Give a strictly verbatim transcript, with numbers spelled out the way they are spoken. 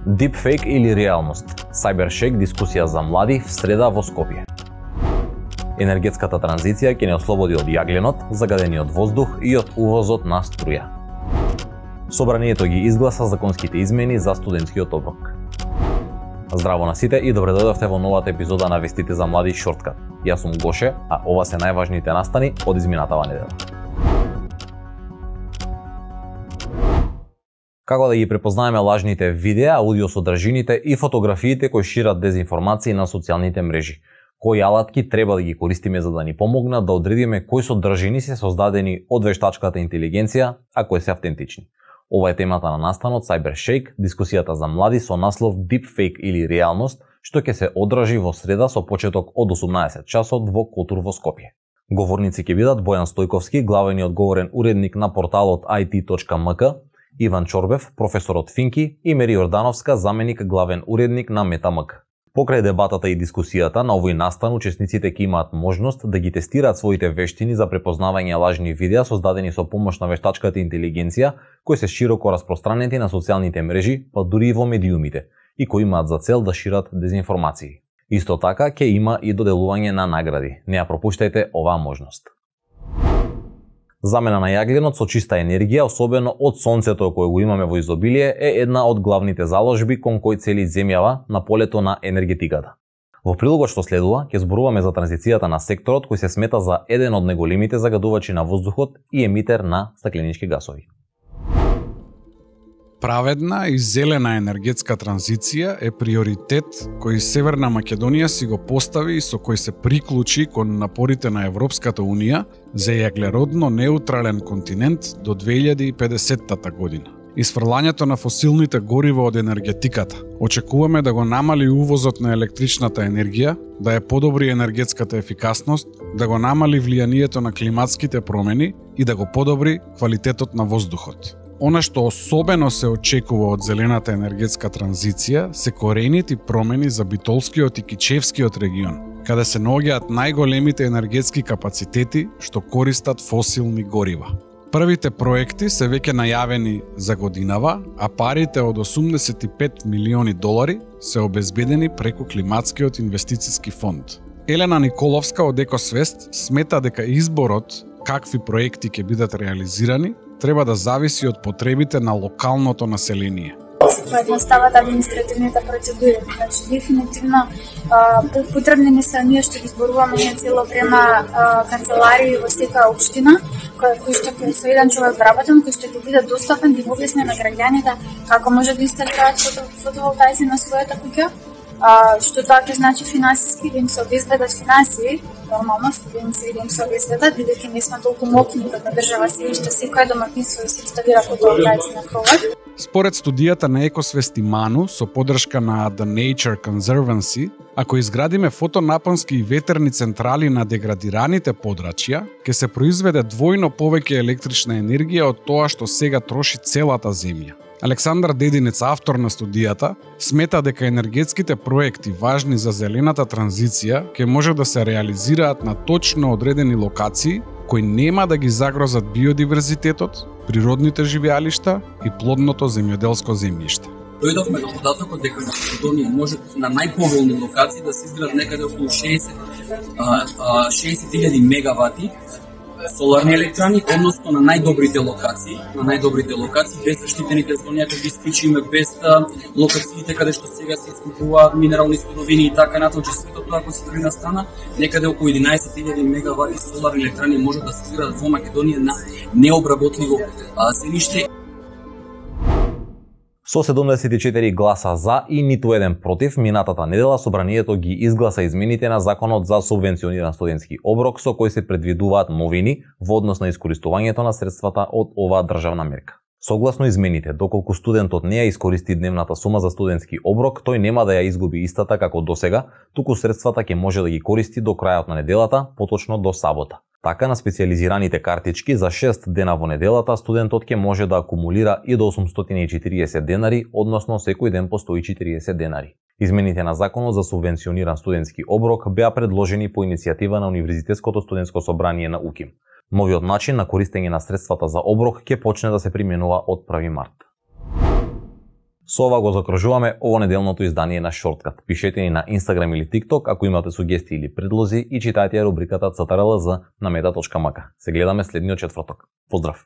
Deepfake или реалност? Cybershake дискусија за млади в среда во Скопје. Енергетската транзиција ќе не ослободи од јагленот, загадениот воздух и од увозот на струја. Собранието ги изгласа законските измени за студентскиот оброк. Здраво на сите и добре дојдовте во новата епизода на Вестите за млади Шорткат. Јас сум Гоше, а ова се најважните настани од изминатава недела. Како да ги препознаеме лажните видеа, аудиосодржините и фотографиите кои шират дезинформации на социјалните мрежи? Кои алатки треба да ги користиме за да ни помогнат да одредиме кои содржини се создадени од вештачката интелигенција, а кои се автентични? Ова е темата на настанот Cybershake, дискусијата за млади со наслов Deepfake или реалност, што ќе се одржи во среда со почеток од осумнаесет часот во Котур во Скопје. Говорници ќе бидат Бојан Стојковски, главен и одговорен уредник на порталот ай ти точка ем ка, Иван Чорбев, професор од Финки, и Мери Јордановска, заменик главен уредник на Метамк. Покрај дебатата и дискусијата на овој настан, учесниците ќе имаат можност да ги тестираат своите вештини за препознавање лажни видеа создадени со помош на вештачката интелигенција, кои се широко распространети на социјалните мрежи, па дури и во медиумите, и кои имаат за цел да шират дезинформации. Исто така ќе има и доделување на награди. Не ја пропуштајте оваа можност. Замена на јагленот со чиста енергија, особено од сонцето кое го имаме во изобилие, е една од главните заложби кон кој цели земјава на полето на енергетиката. Во прилогот што следува, ќе зборуваме за транзицијата на секторот кој се смета за еден од најголемите загадувачи на воздухот и емитер на стакленички гасови. Праведна и зелена енергетска транзиција е приоритет кој Северна Македонија си го постави и со кој се приклучи кон напорите на Европската Унија за јаглеродно неутрален континент до две илјади и педесетта година. Исфрлањето на фосилните горива од енергетиката. Очекуваме да го намали увозот на електричната енергија, да ја подобри енергетската ефикасност, да го намали влијанието на климатските промени и да го подобри квалитетот на воздухот. Она што особено се очекува од зелената енергетска транзиција се корените промени за Битолскиот и Кичевскиот регион, каде се наоѓаат најголемите енергетски капацитети што користат фосилни горива. Првите проекти се веќе најавени за годинава, а парите од осумдесет и пет милиони долари се обезбедени преку Климатскиот инвестициски фонд. Елена Николовска од Екосвест смета дека изборот какви проекти ќе бидат реализирани треба да зависи од потребите на локалното население. Се поедностават административните процедури, значи дефинитивно потребни не се ние што ги зборуваме ние цело време канцеларии во секоја општина, кои што со еден човек вработен, кој што ќе биде достапен да објасни на граѓаните како може да инсталираат фотоволтаици на својата куќа. А, што тоа ќе значи финансиски да им се обезбедат финансии, нормално студенти да им се обезбедат, бидејќи не сме толку моќни како држава се што секој домакинство се инсталира фотоволтаици на кровот. Според студијата на Екосвест и Ману со поддршка на The Nature Conservancy, ако изградиме фотонапонски и ветерни централи на деградираните подрачја, ќе се произведе двојно повеќе електрична енергија од тоа што сега троши целата земја. Александар Дединец, автор на студијата, смета дека енергетските проекти важни за зелената транзиција ќе може да се реализираат на точно одредени локации кои нема да ги загрозат биодиверзитетот, природните живеалишта и плодното земјоделско земјиште. Дојдовме до податокот дека на Македонија може на најповолни локации да се изградат некаде околу шеесет илјади мегавати соларни електрани, односно на најдобрите локации, на најдобрите локации, без заштитените зони, ако ги исклучиме, без локациите каде што сега се искупуваат минерални суровини и така натаму, че сето тоа ако се тргне на страна, некаде околу единаесет илјади мегавати соларни електрани може да се изградат во Македонија на необработливо земјиште. Со седумдесет и четири гласа за и ниту еден против, минатата недела собранието ги изгласа измените на Законот за субвенциониран студентски оброк со кој се предвидуваат новини во однос на искористувањето на средствата од оваа државна мерка. Согласно измените, доколку студентот не ја искористи дневната сума за студентски оброк, тој нема да ја изгуби истата како досега, туку средствата ќе може да ги користи до крајот на неделата, поточно до сабота. Така, на специјализираните картички за шест дена во неделата, студентот ќе може да акумулира и до осумстотини и четириесет денари, односно секој ден по сто и четириесет денари. Измените на Законот за субвенциониран студентски оброк беа предложени по иницијатива на Универзитетското студентско собрание на УКИМ. Новиот начин на користење на средствата за оброк ќе почне да се применува од први март. Со ова го закружуваме ово неделното издание на Shortcut. Пишете ни на Instagram или TikTok ако имате сугестии или предлози и читајте ја рубриката Цртл на meta точка m k. Се гледаме следниот четврток. Поздрав!